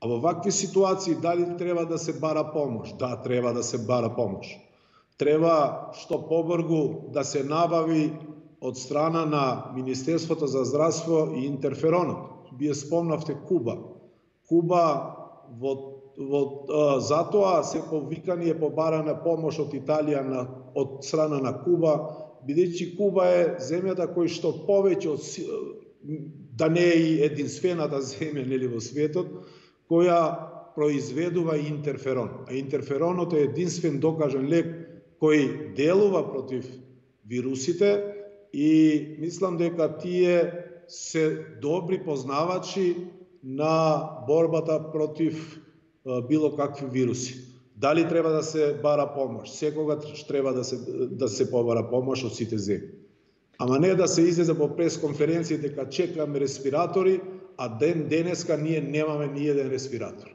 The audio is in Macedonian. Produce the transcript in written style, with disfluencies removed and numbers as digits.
А во вакви ситуации дали треба да се бара помош? Да, треба да се бара помош. Треба што побрзо да се набави од страна на Министерството за здравство и интерферонот. Вие спомнавте Куба. Куба затоа се повикани е побарана помош од Италија од страна на Куба, бидејќи Куба е земјата кој што повеќе да не е и единствената земја нели во светот која произведува интерферон. А интерферонот е единствен докажан лек кој делува против вирусите и мислам дека тие се добри познавачи на борбата против било какви вируси. Дали треба да се бара помош? Секогаш треба да се побара помош од сите земји. Ама не да се излезе по пресконференција дека чекаме респиратори, а денеска ние немаме ни еден респиратор.